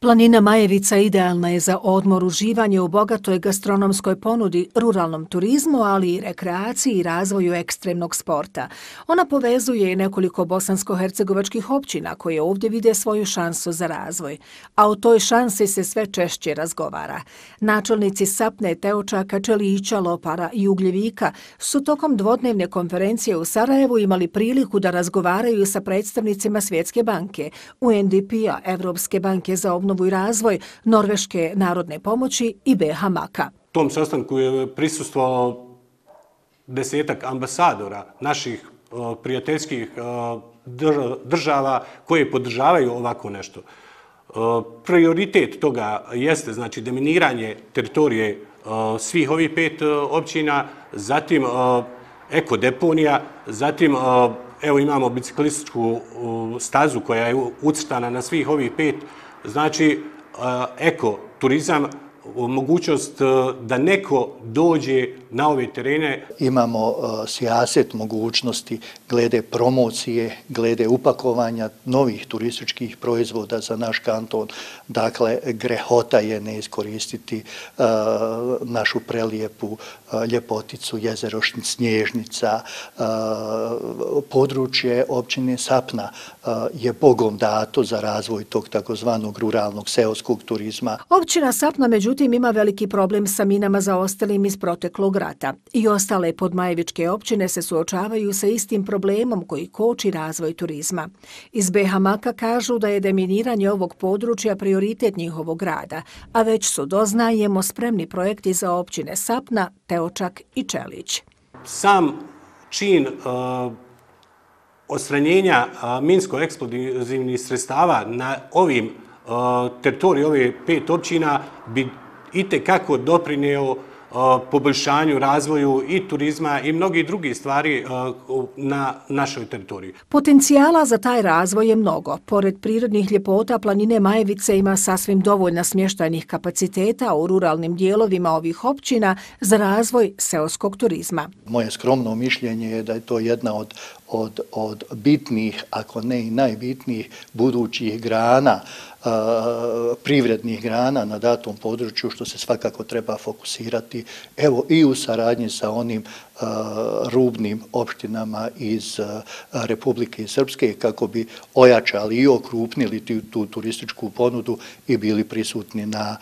Planina Majevica idealna je za odmor, uživanje u bogatoj gastronomskoj ponudi, ruralnom turizmu, ali i rekreaciji i razvoju ekstremnog sporta. Ona povezuje i nekoliko bosansko-hercegovačkih općina koje ovdje vide svoju šansu za razvoj. A o toj šansi se sve češće razgovara. Načelnici Sapne, Teočaka, Čelića, Lopara i Ugljevika su tokom dvodnevne konferencije u Sarajevu imali priliku da razgovaraju sa predstavnicima Svjetske banke, UNDP-a, Evropske banke za obnovu i razvoj, Norveške narodne pomoći i BH Maka. Tom sastanku je prisustvovalo 10-ak ambasadora naših prijateljskih država koje podržavaju ovako nešto. Prioritet toga jeste znači deminiranje teritorije svih ovih 5 općina, zatim ekodeponija, zatim evo imamo biciklističku stazu koja je ucrtana na svih ovih 5. Znači, ekoturizam, mogućnost da neko dođe na ove terene. Imamo sijaset mogućnosti glede promocije, glede upakovanja novih turističkih proizvoda za naš kanton. Dakle, grehota je ne iskoristiti našu prelijepu ljepoticu, jezero Snježnica. Područje općine Sapna je Bogom dato za razvoj tog takozvanog ruralnog seoskog turizma. Općina Sapna, međutim, ima veliki problem sa minama zaostalim iz proteklog rata. I ostale podmajevičke općine se suočavaju sa istim problemom koji koči razvoj turizma. Iz BH Maka kažu da je deminiranje ovog područja prioritet njihovog rada, a već su, doznajemo, spremni projekti za općine Sapna, Teočak i Čelić. Sam čin odstranjenja minsko-eksplozivnih sredstava na ovim teritoriji ove 5 općina bi itekako doprineo poboljšanju, razvoju i turizma i mnogih drugih stvari na našoj teritoriji. Potencijala za taj razvoj je mnogo. Pored prirodnih ljepota, planine Majevice ima sasvim dovoljno smještajnih kapaciteta u ruralnim dijelovima ovih općina za razvoj seoskog turizma. Moje skromno mišljenje je da je to jedna od bitnih, ako ne i najbitnijih budućih grana, privrednih grana na datom području, što se svakako treba fokusirati, evo i u saradnji sa onim rubnim opštinama iz Republike Srpske, kako bi ojačali i okrupnili tu turističku ponudu i bili prisutni na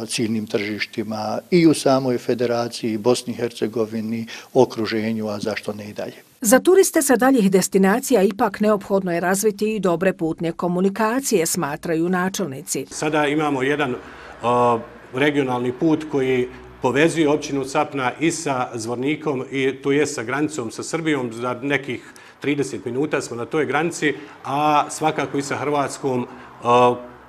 ciljnim tržištima i u samoj federaciji, Bosni i Hercegovini, okruženju, a zašto ne i dalje. Za turiste sa daljih destinacija ipak neophodno je razviti i dobre putne komunikacije, smatraju načelnici. Sada imamo jedan regionalni put koji povezuje općinu Sapna i sa Zvornikom, i to je sa granicom sa Srbijom. Za nekih 30 minuta smo na toj granici, a svakako i sa Hrvatskom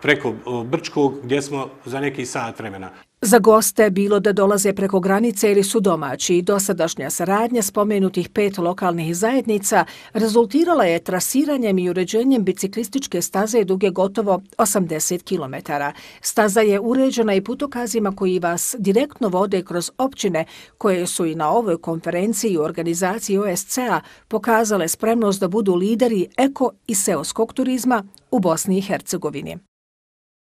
preko Brčkog, gdje smo za neki sat vremena. Za goste, bilo da dolaze preko granice ili su domaći, dosadašnja saradnja spomenutih 5 lokalnih zajednica rezultirala je trasiranjem i uređenjem biciklističke staze duge gotovo 80 km. Staza je uređena i putokazima koji vas direktno vode kroz općine koje su i na ovoj konferenciji u organizaciji OSCE-a pokazale spremnost da budu lideri eko i seoskog turizma u Bosni i Hercegovini.